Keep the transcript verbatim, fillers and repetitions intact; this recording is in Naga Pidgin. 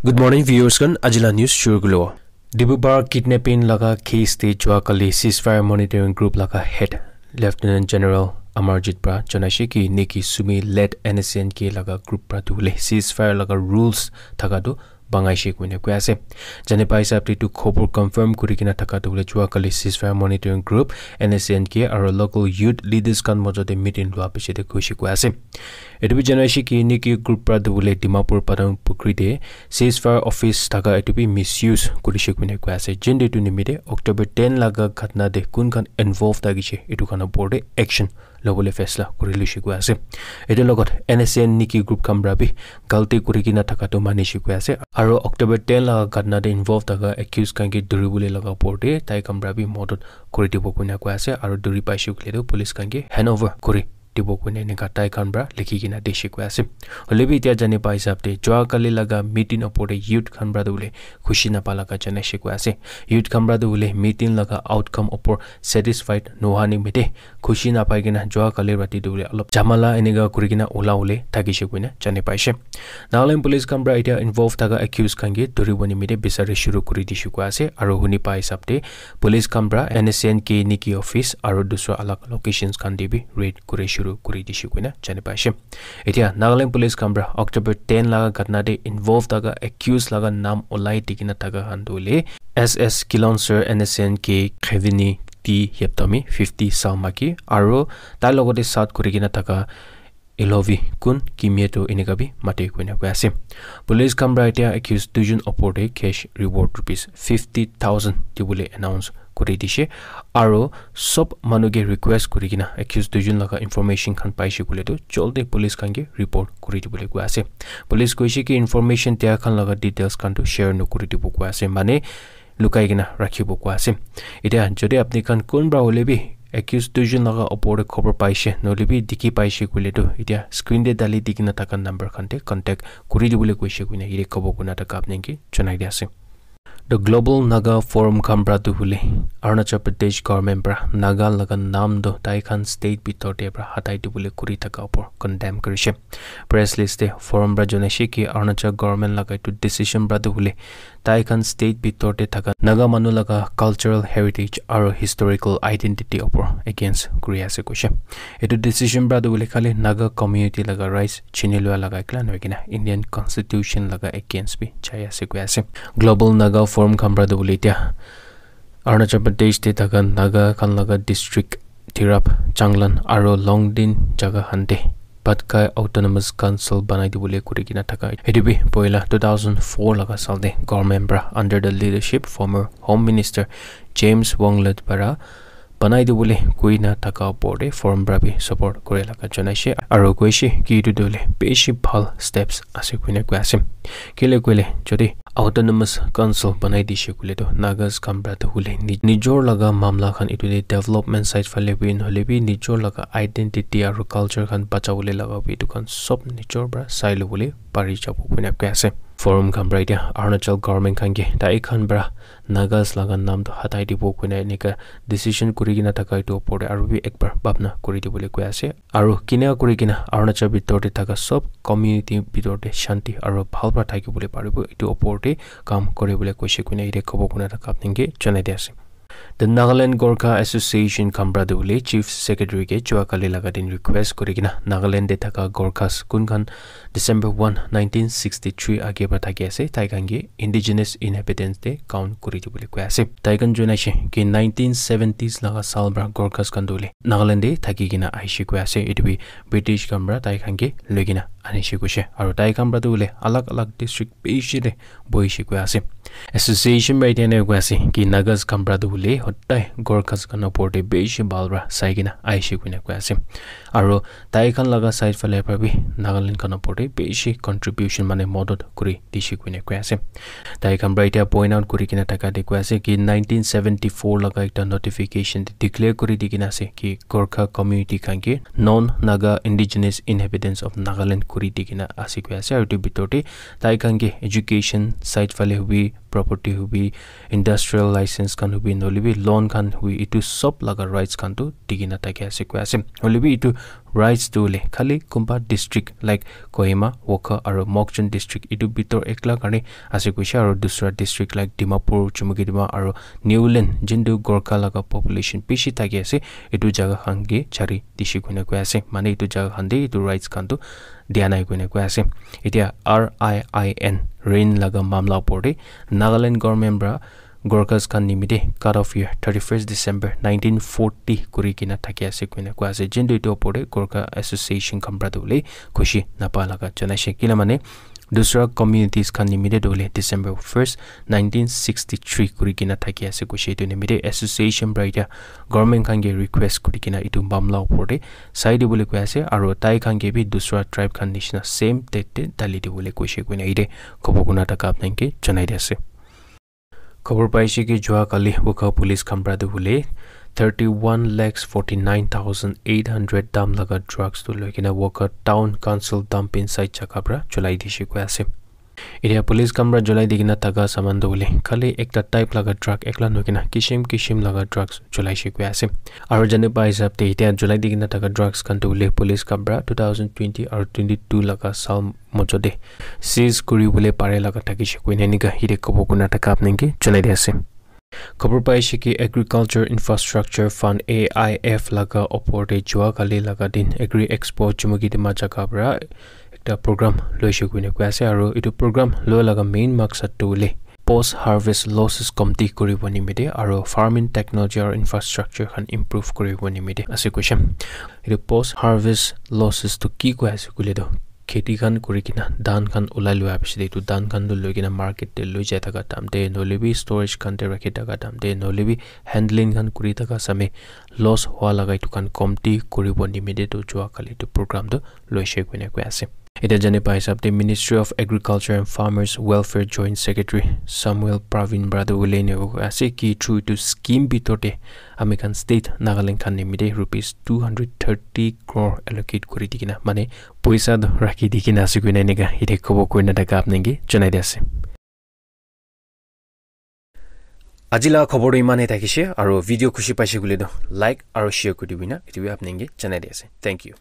Good morning, viewers khan. Ajila news shuru kulo. Dibubar kidnapping laga case te jua kali ceasefire monitoring group laga head Lieutenant General Amarjit pra janaishe ki Nikki Sumi led N S C N K laga group pra tu le ceasefire laga rules thaka tu bangaishe koine koi ase. Jane pai hisab te tu khobor confirm kuri kena thaka tu le jua kali ceasefire monitoring group N S C N K aro local youth leaders khan mojo te meeting lua piche te kuishe koi ase. Etu bi janaishe ki Nikki group pra tu le Dimapur Padang Pukri te ceasefire office thaka etu bi misuse kurishe koine koi ase. Jin de tu nimite October ten laga ghatna de kun khan involve thakishe etu khan opor de action lobole faisla kuri luishe koi ase. Etu logot N S C N Nikki group khan pra bi galti kuri kena thaka tu manishe koi ase. Aro October ten laga ghatna de involve thaka accused khan ke dhuri bole laga opor de tai khan pra bi modot kuri dibo koina koi ase. Aro dhuri paishe koile tu police khan ke hand over kuri dibo koina enika tai khan pra likhi kena dishe koi ase. Hoile bi etia jane pai hisab te jua kali laga meeting opor te youth khan pra tu bole khushi napa laga janaishe koi ase. Youth khan pra tu bole meeting laga outcome opor satisfied noha nimite khushi napai kena jua kali rati tu bole olop jamala enika kuri kena ola ole thakishe koina jane paishe. Nagaland police khan pra etia involve thaka accused khan ke dhuribo nimite bisari shuru kuri dishe koi ase. Aro huni pai hisab te police khan pra N S C N K Nikki office aro dusra alag locations khan te bi raid kuri shuru kuri dishe koina jane paishe. Etia Nagaland police khan pra October ten laga ghatna te involve thaka accused laga nam olai di kena thaka khan tu le S S Kilonser N S C N K Khevini T Yeptami fifty Salmaki aro tai logote sat kuri kena thaka Ilovi kun kimie tu enika bi mate koina koi ase. Police khan pra etia accused duijon opor te cash reward rupees fifty thousand dibole announce kuri dishe. Aro sob manu ke request kuri kena accused duijon laga information khan paishe koile tu joldi police khan ke report kuri dibole koi ase. Police koishe ki information dia khan laga details khan tu share nokuri dibo koi ase. Mane lukai kena rakhibo koi ase. Etia jodi apni khan kunba hoile bi accused duijon laga opor te khobor paishe nohoile bi dikhi paishe koile tu etia screen te dali di kena thaka number khan te contact kuri dibole koishe koina yate khobor kuna thaka apni ke janai di ase. The Global Naga Forum khan pra tu hoile Arunachal Pradesh government pra Naga laga nam tu tai khan state bitor te pra hatai dibole kuri thaka opor condemn kurishe. Press release te forum pra janaishe ki Arunachal government laga etu decision pra tu hoile tai khan state bitor te thaka Naga manu laga cultural heritage aro historical identity opor against kuri ase koishe. Etu decision pra tu hoile khali Naga community laga rights chini lua laga ekla nohoi kena Indian constitution laga against bi jai ase koi ase. Global Naga Forum khan pra tu hoile etia Arunachal Pradesh te thaka Naga khan laga district Tirap, Changlang aro Longding jaga khan te Patkai Autonomous Council banai dibole kuri kena thaka. Etu bi poila two thousand four laga sal te government pra under the leadership former Home Minister James Wanglet para banai dibole koi na thaka opor te forum pra bi support kure laga janaishe aro koishe ki etu tu hoile bishi bhal steps ase koina koi ase. Kile koile jodi Autonomous Council banai dishe koile tu Nagas khan pra tu hoile ni-, nijor laga mamla khan etu te development side phale bi nohoile bi nijor laga identity aro culture khan bachabole laga bi etu khan sob nijor pra sai lobole pari jabo koina koi ase. Forum khan pra etia Arunachal government khan ke tai khan pra Nagas laga nam tu hatai dibo koina enika decision kuri kena thaka etu opor te aro bi ekbar bhabna kuri dibole koi ase. Aro kina kuri kena Arunachal bitor te thaka sob community bitor te shanti aro bhal pra thaki bole paribo etu opor te kam kuri bole koishe koina yate khobor kuna thaka apni ke janai di ase. The Nagaland Gorkha Association khan pra tu hoile Chief Secretary ke jua kali laga din request kuri kena Nagaland te thaka Gorkhas kun khan December one, nineteen sixty-three age pra thaki ase, tai khan ke indigenous inhabitants te count kuri dibole koi ase. Tai khan janaishe ki nineteen seventies laga sal pra Gorkhas khan tu hoile Nagaland te thaki kena aishe koi ase. Etu bi British khan pra tai khan ke loi kena anishe koishe. Aro tai khan pra tu hoile alag alag district bishi te boishe koi ase. Association pra etia ena koi ase ki Nagas khan pra tu hoile hodai Gorkhas khan opor te bishi bhal pra sai kena aishe koina koi ase. Aro tai khan laga side phale pra bi Nagaland khan opor te bishi contribution mane modot kuri dishe koina koi ase. Tai khan pra etia point out kuri kena thaka te koi ase ki nineteen seventy-four laga ekta notification te declare kuri di kena ase ki Gorkha community khan ke non Naga indigenous inhabitants of Nagaland kuri di kena ase koi ase. Aro etu bitor te tai khan ke education side phale hobi property hobi, industrial license khan hobi, nohoilebi loan khan hobi, etu sob laga rights khan tu dikena thaki ase koi ase. Hoilebi etu rights tu hoile khali kunba district like Kohima, Wokha aru Mokokchung district etu bitor ekla karne ase koise, aru dusra district like Dimapur, Chumukedima aru Niuland, jintu Gorkha laga population bishi thaki ase, etu jaga khan ke chari dise koina koi ase. Mane etu jaga khan te etu rights khan tu dia nai koina koi ase. Etia R I I N, RIN laga mamla opor te Nagaland government para Gorkhas khan nimite cut off year thirty-first December nineteen forty kuri kena thaki ase koina koi ase. Jintu etu opor te Gorkha Association khan para tu hoile khushi napa laga janaise. Kila mane dusra communities khan nimite tu hoile December first, nineteen sixty-three kuri kena thaki ase koise. Etu nimite association para etia government khan ke request kuri kena etu mamla opor te sai dibole koi ase, aru tai khan ke bi dusra tribe khan nishina same date te dali dibole koise koina ite khobor kuna thaka apni khan ke janai di ase. Khobor paise ki jua kali Wokha police khan para tu hoile thirty-one lakhs forty-nine thousand eight hundred dam laga drugs tu loi kena Wokha town council dumping site jaga para cholai dise koi ase. Etia police khan para cholai di kena thaka saman tu hoile khali ekta type laga drug ekla nohoi kena kishim kishim laga drugs cholaise koi ase. Aru jane pa hisab te etia cholai di kena thaka drugs khan tu hoile police khan para two thousand twenty aru twenty-two laga saal mojo te seize kuri bole pare laga thakise koina enika ite khobor kuna thaka apni khan ke janai di ase. Khobor paise ki Agriculture Infrastructure Fund, A I F, laga opor te jua kali laga din Agri Expo Chumukedima jaga para ekta program loise koina koi ase, aru etu program loa laga main maksad tu hoile post harvest losses komti kuribo nimite aru farming technology aru infrastructure khan improve kuribo nimite ase koise. Etu post harvest losses tu ki koi ase koile tu kheti khan kuri kena dhan khan ulai lua piche te etu dhan khan tu loi kena market te loi jai thaka time te nohoilebi storage khan te rakhi thaka time te nohoilebi handling khan kuri thaka samay loss hua laga etu khan komti kuribo nimite tu jua kali etu program tu loise koina koi ase. Etia jane pa hisab te Ministry of Agriculture and Farmers Welfare Joint Secretary Samuel Pravin para tu ulai ne koi ase ki through etu scheme bitor te ami khan state Nagaland khan nimite rupees two hundred thirty crore allocate kuri di kena mane poisa tu rakhi di kena ase koina enika ite khobor kurina thaka apni khan ke janai di ase. Aji laga khobor tu iman he thakise, aru video khushi paise koile tu like aru share kuri dibi na, etu bi apni khan ke janai di ase. Thank you.